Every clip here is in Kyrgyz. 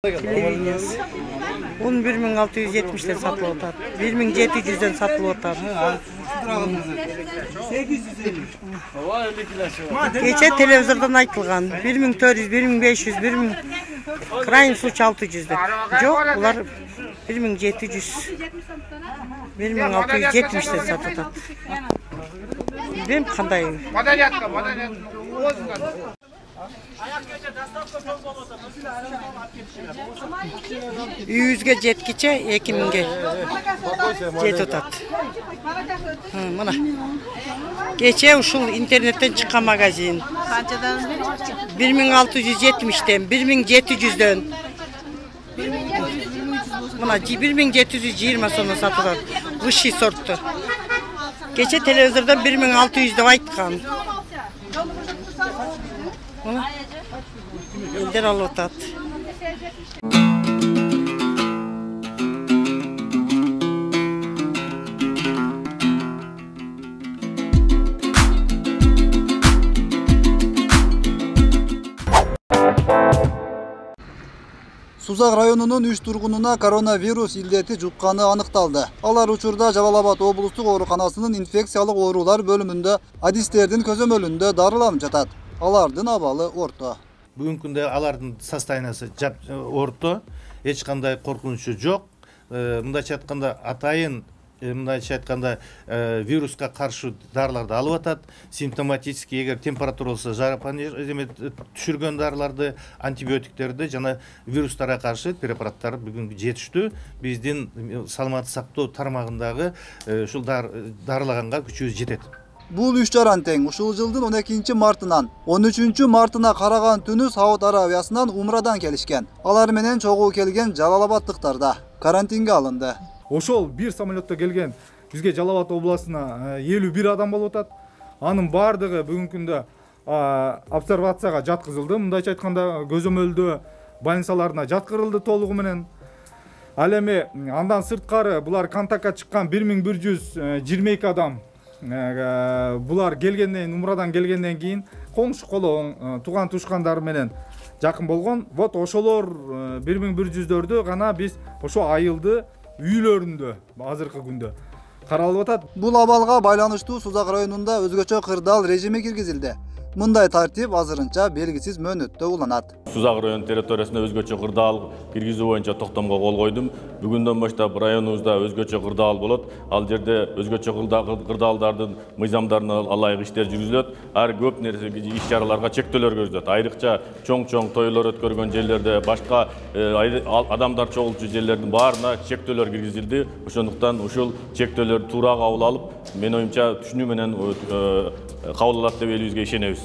Un 1670'den satılıp atar. 1700'den satılıp atar. Geçe televizordan aytılgan 1400, 1500, 1000 krayın suç 600'de. Yok, ular 1700, 1670'den satılıp atar. Benim kanday. Yüzge jetkiçe 2000'ge jet otat. Mana. Geçe uşul internetten çıkan magazin. 1670'den, 1700'den. Mana 1720 sonra satılan vışı sorttu. Geçe televizordan 1600'de aytkan. Mana. Elden alıtat. Сузак районунун 3 тургунуна коронавирус илдети жукканы аныкталды. Алар учурда Жалал-Абад облустук ооруканасынын инфекциялык оорулар бөлүмүндө адистердин көзөмөлүндө дарыланып жатат. Алардын абалы орто. Бүгүнкү күндө алардын состояниясы орто, эч кандай коркунучу жок. Мындайча айтканда атайын вируска каршы дарыларды алып атат. Симптоматический, эгер температура болсо түшүргөн дарыларды, антибиотиктерди жана вирустарга каршы препараттар бүгүн жетиштүү. Биздин саламаттык сактоо тармагындагы ушул дарылаганга күчүбүз жетет. Бул 3 жаран тең ушул жылдын 12 мартынан 13 мартына караган түнү Сауд Арабиясынан умрадан келишкен. Алар менен чогуу келген Жалал-Абадтыктар карантинге алынды. Ошол бир самолетто келген бизге Жалал-Абад областына 51 адам болуп атат. Анын бардыгы бүгүнкү күндө обсервацияга жаткызылды. Мындайча айтканда көзөмөлдөө больницаларына жаткырылды толугу менен. Ал эми андан сырткары булар контактка чыккан 1122 адам. Булар келгенден, умрадан келгенден кийин коңшу колоң тууган тушкандары менен жакын болгон. Вот ошолор 1100дөрдү гана биз ошо айылды үйлөрүндө азыркы күндө каралып атат. Бул абалга байланыштуу Сузак районунда өзгөчө кырдаал режими киргизилди. Мындай тартип азырынча белгисиз мөөнөттө уланат. Сузак район территориясында өзгөчө кырдаал киргизүү боюнча токтомго кол койдум. Бүгүндөн баштап районубузда өзгөчө кырдаал болот. Ал жерде өзгөчө кырдаалдардын мыйзамдарына ылайык иштер жүргүзүлөт. Ар көп нерсе иш-чараларга чектөөлөр көрүлөт. Айрыкча чоң тойлор өткөргөн жерлерде, башка адамдар чогулчу жерлердин баарына чектөөлөр киргизилди. Ошондуктан ушул чектөөлөр туура кабыл алып, мен оюмча түшүнүү менен кабыл алат деп элибизге ишенебиз.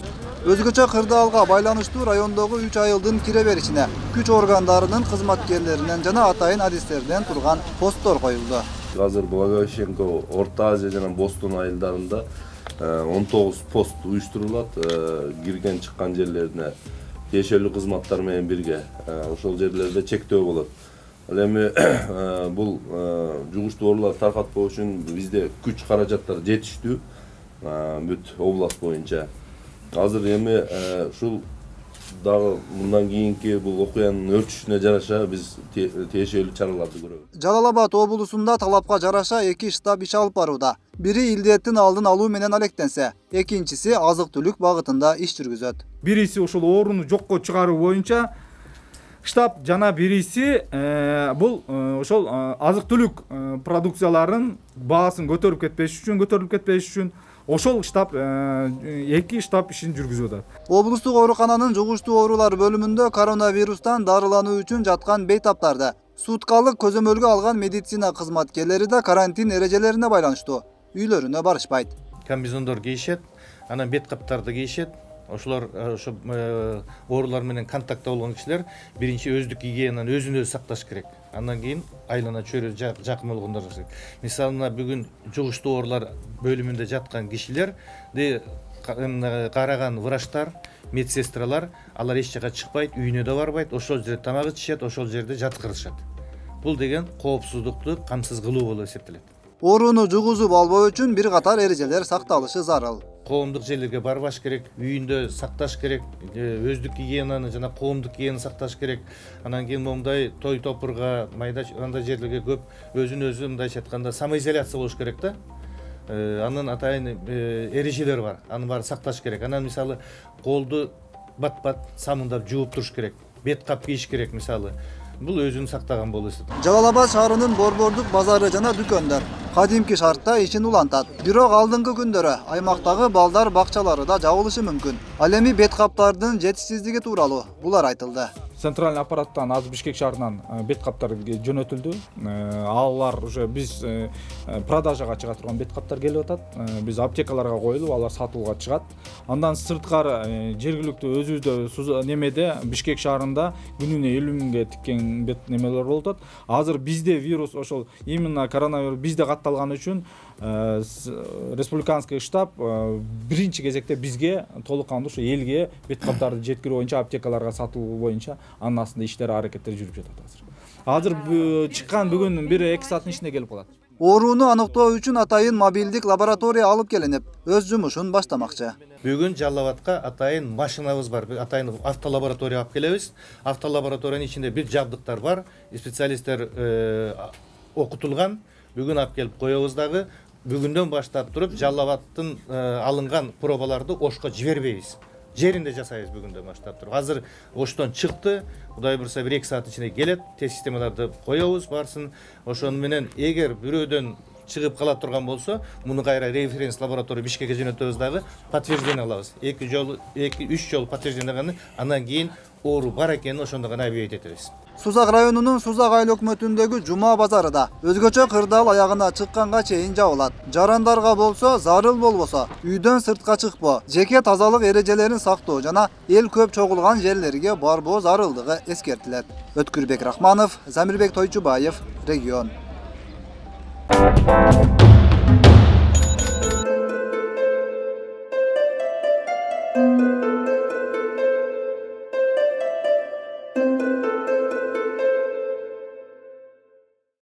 Өзгөчө кырдаалга байланыштуу райондогу 3 айылдын кире беришине күч органдарынын кызматкерлеринен жана атайын адистерден турган посттор коюлду. Азыр Благовещенко, Орто Азия жана Бостон айылдарында 19 пост уюштурулат. Кирген чыккан жерлерине тиешелүү кызматтар менен бирге ошол жерлерде чектөө болот. Ал эми бул жугуштуу ооруларды таркатпоо үчүн бизде күч каражаттар жетиштүү бүт област боюнча. Азыр эми ушул дагы мындан кийинки бул окуянын өрчүшүнө жараша биз тиешелүү чараларды көрөбүз. Жалал-Абад облусунда талапка жараша 2 штаб иш алып барууда. Бири илдеттин алдын алуу менен алектенсе, экинчиси азык-түлүк багытында иш жүргүзөт. Бириси ушул ооруну жокко чыгаруу боюнча штаб жана бириси бул ошол азык-түлүк продукцияларынын баасын көтөрүп кетпеш үчүн ошол штаб 2 штаб ишин жүргүзүп атат. Облустук оорукананын жугуштуу оорулар бөлүмүндө коронавирустан дарылануу үчүн жаткан бейтаптарды суткалык көзөмөлгө алган медицина кызматкерлери да карантин эрежелерине байланыштуу үйлөрүнө барышпайт. Комбинезондор кийишет, анан бет каптарды кийишет. Ошолор ошо оорулар менен контактта болгон кишилер биринчи өздүк гигиенаны өзүн-өзү сакташ керек. Андан кийин айлана чөйрө жакын болгондор. Мисалына бүгүн жугуштуу оорулар бөлүмүндө жаткан кишилерди караган врачтар, медсестралар, алар эч жака чыкпайт, үйүнө да барбайт, ошол жерде тамак ичишет, ошол жерде жаткырышат. Бул деген коопсуздукту камсыз кылуу болуп эсептелет. Ооруну жугузуп албоо үчүн бир катар эрежелер сакталышы зарыл. коомдук жерлерге барбаш керек, үйүндө сакташ керек, өздүк гигиенаны жана коомдук гигиенаны сакташ керек. Анан кийин момундай той топурга, майда андай жерлерге көп өзүн өзү мындайча айтканда самоизоляция болуш керек да. Анын атайын эрежелери бар. Аны баары сакташ керек. Анан мисалы колду бат-бат самындап жууп туруш керек. Бет кап кийиш керек мисалы. Бул өзүн сактаган болот. Жалал Абад шаарынын борбордук базары жана дүкөндөр кадимки шартта ишин улантат. Бирок алдыңкы күндөрү аймактагы балдар бакчалары да жабылышы мүмкүн. Ал эми бет каптардын жетишсиздиги тууралуу булар айтылды. Центральный аппараттан азыр Бишкек шаарынан бет каптар жөнөтүлдү. Алар уже биз продажага чыга турган бет каптар келип атат. Биз аптекаларга коюлуп, алар сатууга чыгат. Андан сырткары жергиликтүү өзүбүздө немеде Бишкек шаарында күнүнө 50 миңге тиккен бет немелер болуп атат. Азыр бизде вирус ошол именно коронавирус бизде катталган үчүн республиканский штаб биринчи кезекте бизге толук кандуу ушу элге бет каптарды жеткирүү боюнча аптекаларга сатуу боюнча анын астында иштер аракеттер жүрүп жатат азыр. Чыккан бүгүн 1-2 сааттын ичинде келип калат. Ооруну аныктоо үчүн атайын мобилдик лаборатория алып келинип, өз жумушун баштамакчы. Бүгүн Жалал Абадка атайын машинабыз бар, атайын автолаборатория алып келебиз. Автолабораториянын ичинде бир жабдыктар бар, специалисттер окутулган. Бүгүн алып келип коебуз дагы. Бүгүндөн баштап туруп Жалал Абадтын алынган пробаларды Ошко жибербейбиз. Жеринде жасайбыз бүгүндөн баштап туруп. Азыр Оштон чыкты. Кудай бурса 1-2 саат ичинде келет. Тест системаларды коебуз барсын. Ошону менен эгер бирөөдөн чыгып кала турган болсо, муну кайра референс лаборатория Бишкекке жөнөтөбүз дагы, подтверждение алабыз. 2-3 жолу подтверждение алгандан андан кийин оору бар экенин ошондо гана объявить этебиз. Сузак районунун Сузак айыл өкмөтүндөгү Жума базарыда өзгөчө кырдаал аягына чыкканга чейин жабылат. Жарандарга болсо, зарыл болбосо, үйдөн сыртка чыкпоо, жеке тазалык эрежелерин сактоо жана эл көп чогулган жерлерге барбоо зарылдыгы эскертилет. Өткүрбек Рахманов, Замирбек Тойчубаев, Регион.